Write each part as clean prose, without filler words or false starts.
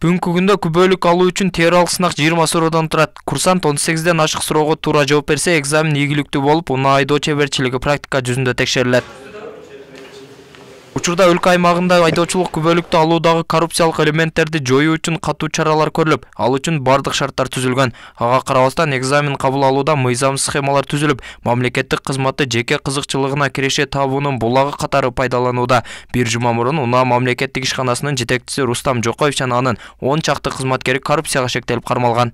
Бүгүнкү күндө күбөлүк алуу үчүн теориялык сынак 20 суроодан турат. Курсант 18ден ашык суроого туура жооп берсе, экзамен ийгиликтүү болуп, унаа айдоо чеберчилиги практика жүзүндө текшерилет. Учурда өлкө аймагында айдоочулук күбөлүктү алуудагы коррупциялык элементтерди жоюу үчүн катуу чаралар көрүлүп, ал үчүн бардык шарттар түзүлгөн. Ага карабастан экзамен кабыл алууда мыйзам схемалар түзүлүп, мамлекеттик кызматты жеке кызыкчылыгына киреше табуунун булагы катары пайдаланууда. Бир жума мурун унаа мамлекеттик ишканасынын жетекчиси Рустам Жокоев жана анын 10 чакты кызматкери коррупцияга шектелип кармалган.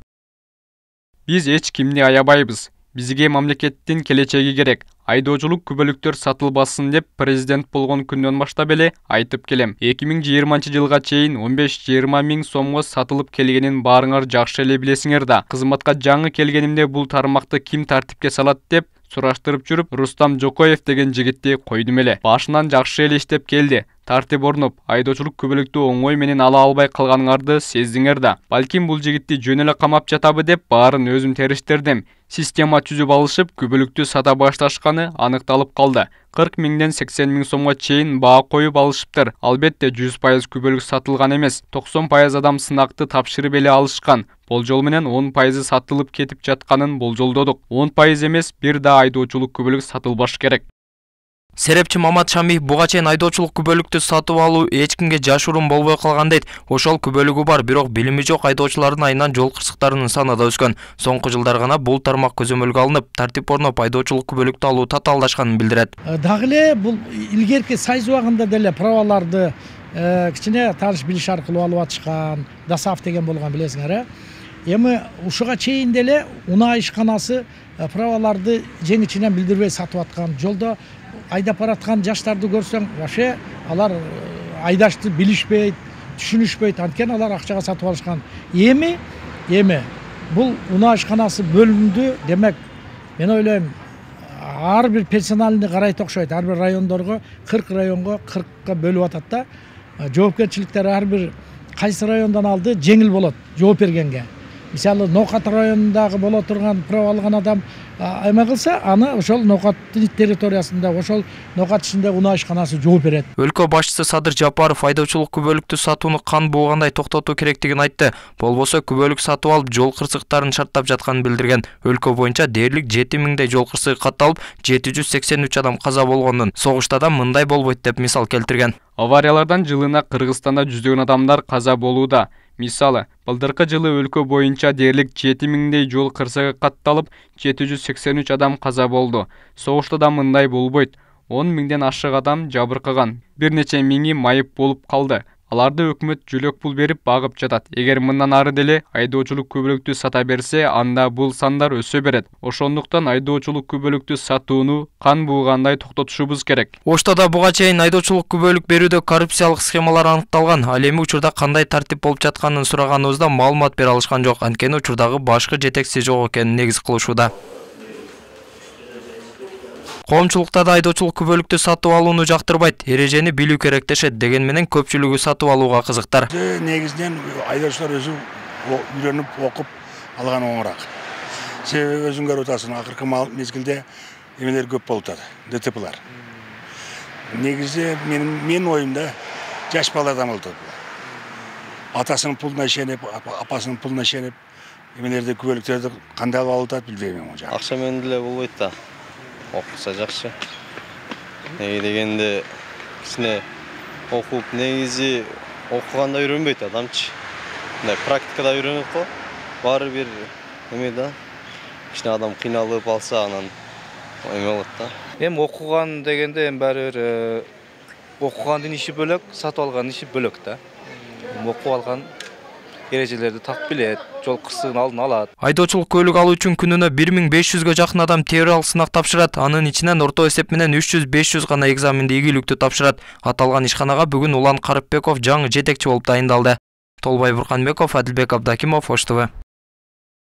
Биз эч кимди аябайбыз. Бизге мамлекеттин келечеги керек. Айдоочулук күбөлүктөр сатылбасын деп президент болгон күндөн баштап эле айтып келем. 2020-жылга чейин 15-20 миң сомго сатылып келгенин баарыңар жакшы эле билесиңер да. Кызматка жаңы келгенимде бул тармакты ким тартипке салат деп сураштырып жүрүп, Рустам Жокоев деген жигитти койдум эле. Башынан жакшы эле иштеп келди. Тартип орнуп, айдоочулук күбөлүктү оңой менен ала албай калганыңарды сездиңер да. Балким бул жигитти жөн эле камап жатабы деп баарын өзүм териштирдим. Система түзүп алышып, күбөлүктү сата башташканы аныкталып калды. 40 миңден 80 миң сомго чейин баа коюп алышыптыр. Албетте 100% күбөлүк сатылган эмес. 90% адам сынакты тапшырып эле алышкан. Болжол менен 10% сатылып кетип жатканын болжолдодук. 10% эмес, бир да айдоочулук күбөлүк сатылбаш керек. Серепчи Мамат Шамиев буга чейин айдоочулук күбөлүктү сатып алуу эч кимге жашыруун болбой калган дейт. Ошол күбөлүгү бар, бирок билими жок айдоочулардын айынан жол кырсыктарынын саны да өскөн. Соңку жылдар гана бул тармак көзөмөлгө алынып, тартип орноп, айдоочулук күбөлүктү алуу татаалдашканын билдирет. Дагы эле бул илгерки сайз убагында деле праваларды кичине тааныш билиш аркылуу алып атышкан, ДОСААФ деген болгон билесиңер. Эми ушуга чейин деле унаа ишканасы праваларды жеңичинен билдирбей сатып аткан. Жолдо айдап бараткан жаштарды көрсөң, вообще алар айдашты билишпейт, түшүнүшпөйт, анткени алар акчага сатып алышкан. Эми бул унаа ишканасы бөлүндү, демек мен ойлойм, ар бир персоналды карайт окшойт. Ар бир райондорго 40 районго 40ка бөлүп атат да. Жоопкерчиликтер ар бир кайсы райондан алды жеңил болот жооп бергенге. Мисалы, Ноокат районундагы боло турган права алган адам эме кылса, аны ошол Ноокат территориясында, ошол Ноокат ичинде унаа ишканасы жооп берет. Өлкө башчысы Садыр Жапаров айдоочулук күбөлүктү сатууну кан буугандай токтотуу керектигин айтты. Болбосо күбөлүк сатып алып, жол кырсыктарын шарттап жатканын билдирген. Өлкө боюнча дээрлик 7 миңдей жол кырсыгы катталып, 783 адам каза болгонун, согушта да мындай болбойт деп мисал келтирген. Авариялардан жылына Кыргызстанда жүздөгөн адамдар каза болууда. Мисалы, былтыркы жылы өлкө боюнча дээрлик 7 миңдей жол кырсыгы катталып, 783 адам каза болду. Согушта да мындай болбойт. 10 миңден ашык адам жабыркаган. Бир нече миңи майып болуп калды. Аларды өкмөт жөлөк пул берип багып жатат. Эгер мындан ары деле айдоочулук күбөлүктү сата берсе, анда бул сандар өсө берет. Ошондуктан айдоочулук күбөлүктү сатууну кан буугандай токтотушубуз керек. Ошто да буга чейин айдоочулук күбөлүк берүүдө коррупциялык схемалар аныкталган. Ал эми учурда кандай тартип болуп жатканын сураганыбызда маалымат бере алышкан жок. Анткени учурдагы башкы жетекчиси жок экенин негиз кылышууда. Коомчулукта да айдоочулук күбөлүктү сатып алууну жактырбайт, эрежени билүү керек дешет. Деген менен көпчүлүгү сатып алууга кызыктар. Негизинен айдоочулар өзү үйрөнүп окуп алган оңураак. Себеби өзүң көрүп атасың, акыркы мезгилде эмелер көп болуп атат, ДТПлар. Негизи менин оюмда жаш баладан болуп атат. Атасынын пулуна ишенип, апасынын пулуна ишенип, эмелерди күбөлүктөрдү кандай алып атат билбейм. Акча менен деле болбойт да. Окуса жакшы. Неге дегенде кичине окуп, негизи окуганда үйрөнбөйт адамчы. Мындай практикада үйрөнөт го. Баары бир эме да. Кичине адам кыйналып алса, анан эме болот да. Эми окуган дегенде баары бир окугандын иши бөлөк, сатып алган иши бөлөк да. Окуп алган эрежелерди так билет, жол кырсыгын алдын алат. Айдоочулук көлүк алуу үчүн күнүнө 1500гө жакын адам теориялык сынак тапшырат. Анын ичинен орто эсеп менен 300-500 гана экзаменди ийгиликтүү тапшырат. Аталган ишканага бүгүн Улан Карыпбеков жаңы жетекчи болуп дайындалды. Толбай Бурканбеков, Адилбек Абдакимов, Ош ТВ.